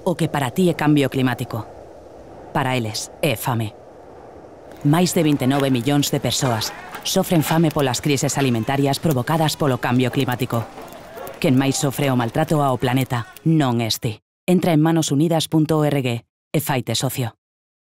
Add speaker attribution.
Speaker 1: o que para ti é cambio climático. Para eles é fame. Máis de 29 millóns de persoas sofren fame polas crises alimentarias provocadas polo cambio climático. Quen máis sofre o maltrato ao planeta non es ti. Entra en manosunidas.org e faite socio.